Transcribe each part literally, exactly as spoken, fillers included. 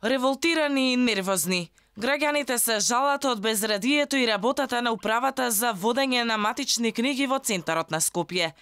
Револтирани и нервозни, граѓаните се жалат од безредието и работата на управата за водење на матични книги во центарот на Скопје.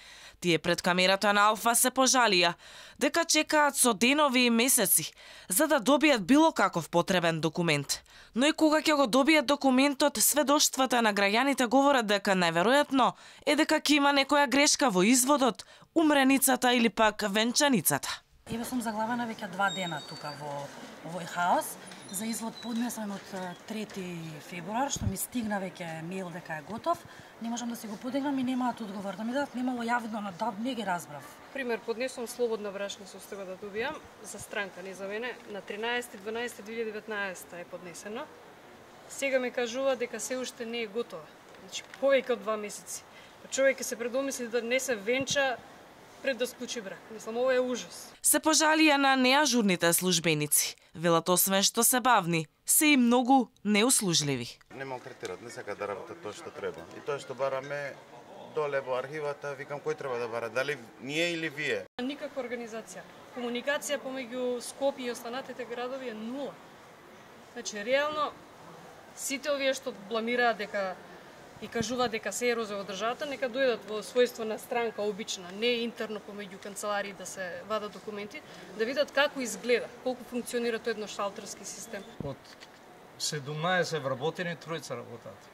Тие пред камерата на Алфа се пожалија дека чекаат со денови и месеци за да добијат било каков потребен документ. Но и кога ќе го добијат документот, сведоштвата на граѓаните говорат дека најверојатно е дека ќе има некоја грешка во изводот, умреницата или пак венчаницата. Еве сум заглавена веќе два дена тука во овој хаос. За извод поднесен од трети февруар, што ми стигна веќе мејл дека е готов. Не можам да си го подигнам и немаат одговор. Да ми дадат немало јавно, но да, не ги разбрав. Пример, поднесувам слободна брашна состојба да добијам за странка, не за мене. На тринаесети дванаесети две илјади и деветнаесетта е поднесено. Сега ми кажува дека се уште не е готова. Значи, повеќе од два месеци. Човек ќе се предомисли да не се венча пред да склучи брак. Мислам, ова е ужас. Се пожалија на неажурните службеници. Велат освен што се бавни, се и многу неуслужливи. Не малтретират, не сакаат да работат тоа што треба. И тоа што бараме доле во архивата, викам кој треба да бара, дали ние или вие? Никаква организација. Комуникација помеѓу Скопје и останатите градови е нула. Значи, реално, сите овие што бламираат дека и кажуваат дека се ерозија во државата, нека дојдат во својство на странка обична, не интерно помеѓу канцеларии да се вадат документи, да видат како изгледа, колку функционира тој едношталтерски систем. Од седумнаесет вработени, тројца работат.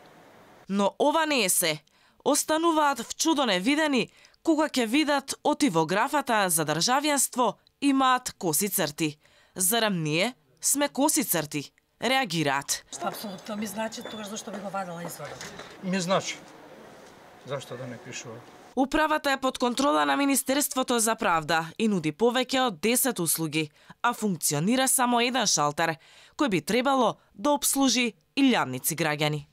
Но ова не е се. Остануваат вчудо невидени кога ќе видат оти во графата за државјанство имаат коси црти. Зарем ние сме коси црти? Реагираат. Што апсолутно ми значи, тогаш зашто би го вадела изводот? Ми значи. Зашто да не пишува? Управата е под контрола на Министерството за правда и нуди повеќе од десет услуги, а функционира само еден шалтер, кој би требало да обслужи илјадници граѓани.